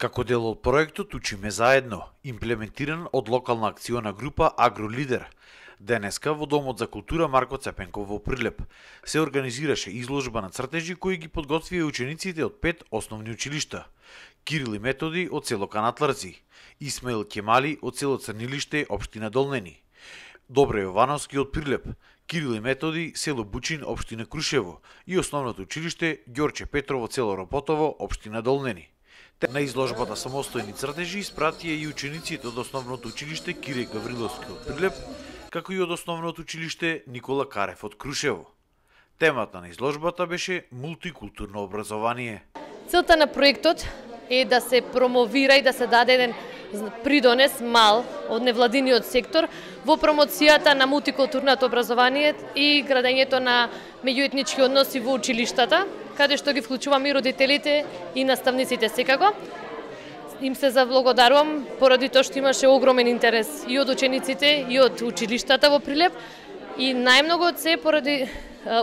Како дел од проектот Учиме заедно, имплементиран од локална акциона група Агролидер, денеска во Домот за култура Марко Цепенков во Прилеп се организираше изложба на цртежи кои ги подготвија учениците од 5 основни училишта: Кирил и Методи од село Канатларци, Исмаил Кемали од село Црнилиште, општина Долнени, Добре Јовановски од Прилеп, Кирил и Методи, село Бучин, општина Крушево и основното училиште Ѓорче Петрово, село Ропотово, општина Долнени. На изложбата самостојни цртежи испратија и учениците од основното училиште Кире Гавриловски од Прилеп, како и од основното училиште Никола Карев од Крушево. Темата на изложбата беше мултикултурно образование. Целта на проектот е да се промовира и да се даде еден придонес мал од невладиниот сектор во промоцијата на мултикултурното образование и градењето на меѓуетнички односи во училиштата, каде што ги вклучуваме и родителите и наставниците секако. Им се заблагодарувам поради тоа што имаше огромен интерес и од учениците и од училиштата во Прилеп и најмногу од се поради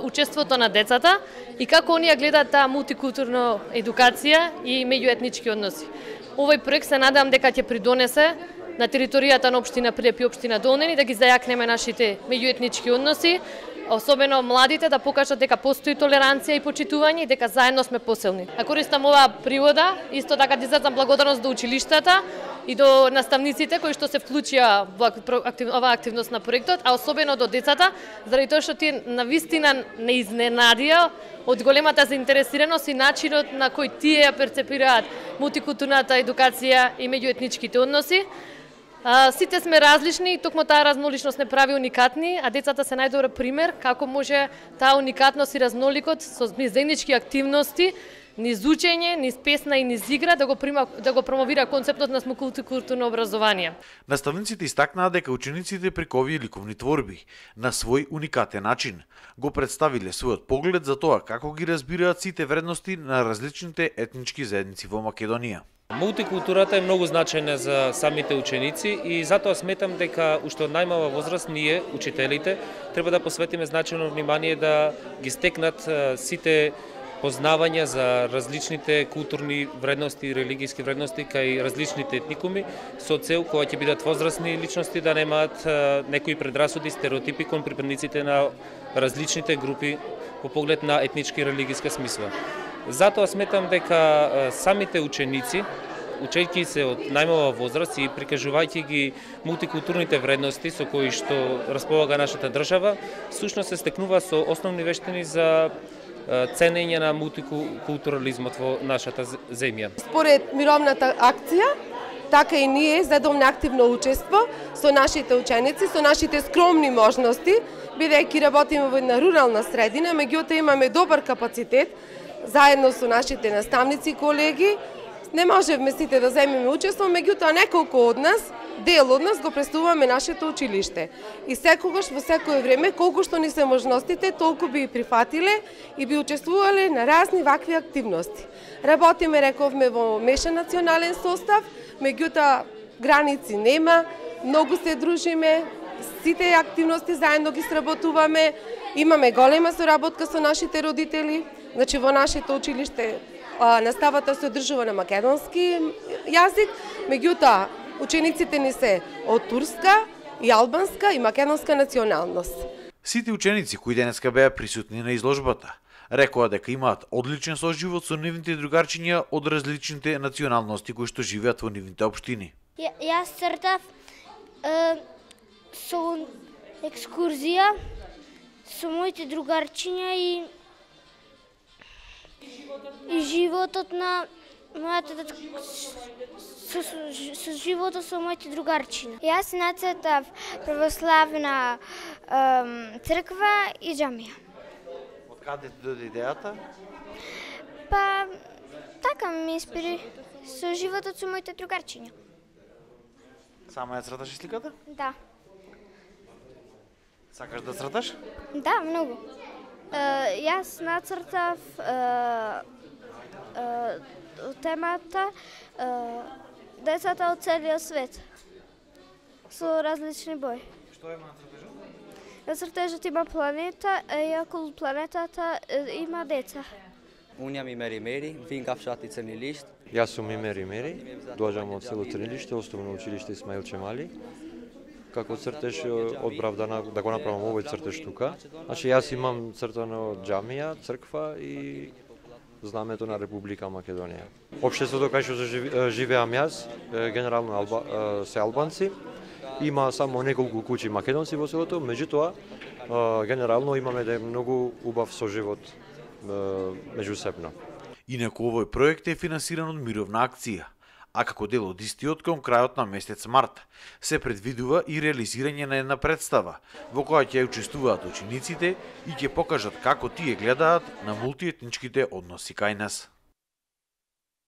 учеството на децата и како оние гледаат таа мултикултурна едукација и меѓуетнички односи. Овој проект се надевам дека ќе придонесе на територијата на општина Прилеп и општина Долнени да ги зајакнеме нашите меѓуетнички односи, особено младите да покажат дека постои толеранција и почитување и дека заедно сме посилни. А користам оваа пригода исто така да изразам благодарност до училиштата и до наставниците кои што се вклучија во оваа активност на проектот, а особено до децата, заради тоа што тие навистина не изненадија од големата заинтересираност и начинот на кој тие ја перцепираат мултикултурната едукација и меѓуетничките односи. Сите сме различни и токму таа разноличност не прави уникатни, а децата се најдобар пример како може таа уникатност и разноликот со заеднички активности, низ учење, низ песна и низ игра да го промовира концептот на мултикултурно образование. Наставниците истакнаа дека учениците преку овие ликовни творби на свој уникатен начин го представиле својот поглед за тоа како ги разбираат сите вредности на различните етнички заедници во Македонија. Мултикултурата е многу значајна за самите ученици и затоа сметам дека уште од најмала возраст ние, учителите, треба да посветиме значајно внимание да ги стекнат сите познавања за различните културни вредности и религиски вредности кај различните етникуми со цел кога ќе бидат возрастни личности да немаат некои предрасуди, стереотипи кон припадниците на различните групи по поглед на етнички и религиска смисла. Затоа сметам дека самите ученици, учејќи се од најмала возраст и прикажувајќи ги мултикултурните вредности со кои што располага нашата држава, всушност се стекнува со основни вештини за ценење на мултикултурализмот во нашата земја. Според мировната акција, така и ние задовме активно учество со нашите ученици, со нашите скромни можности, бидејќи работиме во една рурална средина, меѓутоа имаме добар капацитет, заедно со нашите наставници и колеги. Не можевме сите да земеме учество, меѓутоа неколку од нас, дел од нас го представуваме нашето училиште. И секогаш во секое време, колку што ни се можностите, толку би прифатиле и би учествувале на разни вакви активности. Работиме, рековме, во мешан национален состав, меѓутоа граници нема, многу се дружиме, сите активности заедно ги сработуваме, имаме голема соработка со нашите родители. Значи во нашето училиште наставата се одржува на македонски јазик, меѓутоа учениците ни се од турска и албанска и македонска националност. Сите ученици кои денеска беа присутни на изложбата рекоа дека имаат одличен соживот со нивните другарчиња од различните националности кои што живеат во нивните општини. Јас цртав со екскурзија со моите другарчиња и животот на мојата со животот со моите другарчиња. Јас нацртав православна црква и џамија. Од каде дојде идејата? Па така ми инспири со животот со моите другарчиња. Сама ја црташ сликата? Да. Сакаш да црташ? Да, многу. Јас нацртав темата децата од целиот свет со различни бои. Што има на цртежот? На цртежот има планета и околу планетата има деца. Уња ми Мери, Винкавшати Црни лишт. Јас сум Мери, доаѓам од село Црнилиште, основно училиште Исмаил Чемали. Како цртеж одбрав да го направам овој цртеж тука. Значи јас имам цртано џамија, црква и знамето на Република Македонија. Општеството кај што живеам јас, генерално се албанци. Има само неколку куќи македонци во селото, меѓутоа генерално имаме многу убав соживот меѓусебно. Инаку овој проект е финансиран од мировна акција, а како дел од истиот кон крајот на месец март се предвидува и реализирање на една представа во која ќе учествуваат учениците и ќе покажат како тие гледаат на мултиетничките односи кај нас.